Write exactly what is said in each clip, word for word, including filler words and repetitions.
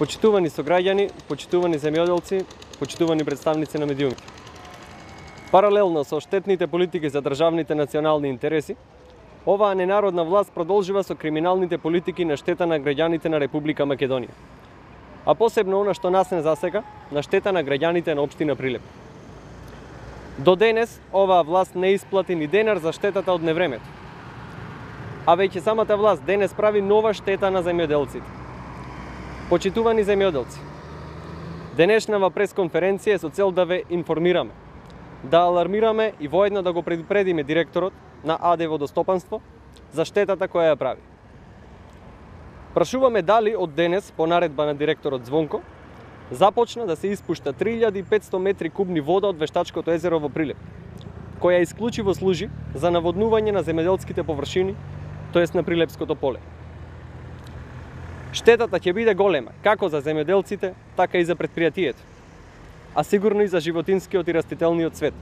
Почитувани сограѓани, почитувани земјоделци, почитувани представници на медиумите. Паралелно со штетните политики за државните национални интереси, оваа ненародна власт продолжува со криминалните политики на штета на граѓаните на Република Македонија. А посебно она што нас не засега, на штета на граѓаните на општина Прилеп. До денес оваа власт не исплати ни денар за штетата од невремето. А веќе самата власт денес прави нова штета на земјоделците. Почитувани земјоделци, денешнава пресконференција е со цел да ве информираме, да алармираме и воедно да го предупредиме директорот на АД Водостопанство за штетата која ја прави. Прашуваме дали од денес, по наредба на директорот Звонко, започна да се испушта три илјади и петсто метри кубни вода од Вештачкото езеро во Прилеп, која исклучиво служи за наводнување на земјоделските површини, тоест на Прилепското поле. Штетата ќе биде голема, како за земјоделците, така и за предпријатието, а сигурно и за животинскиот и растителниот свет.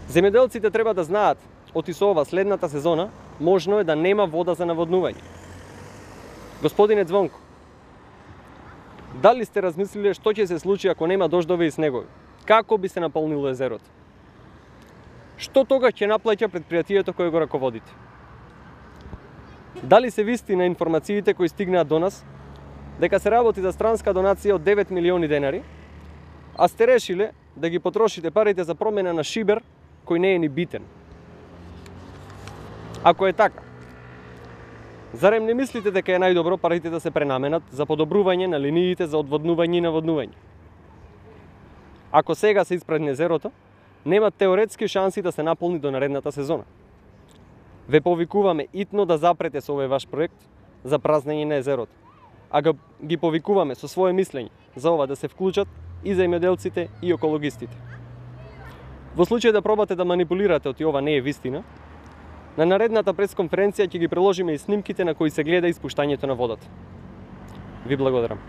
Земјоделците треба да знаат, оти со ова следната сезона, можно е да нема вода за наводнување. Господине Звонко, дали сте размислиле што ќе се случи ако нема дождови и снегови? Како би се наполнило езерото? Што тогаш ќе наплаќа предпријатието кое го раководите? Дали се вистина информациите кои стигнаат до нас дека се работи за странска донација од девет милиони денари, а сте решиле да ги потрошите парите за промена на шибер кој не е ни битен? Ако е така, зарем не мислите дека е најдобро парите да се пренаменат за подобрување на линиите за одводнување и наводнување? Ако сега се испразни езерото, нема теоретски шанси да се наполни до наредната сезона. Ве повикуваме итно да запрете со овој ваш проект за празнење на езерото, а го, ги повикуваме со свое мислење за ова да се вклучат и земјоделците и екологистите. Во случај да пробате да манипулирате оти ова не е вистина, на наредната пресконференција ќе ги приложиме и снимките на кои се гледа испуштањето на водата. Ви благодарам.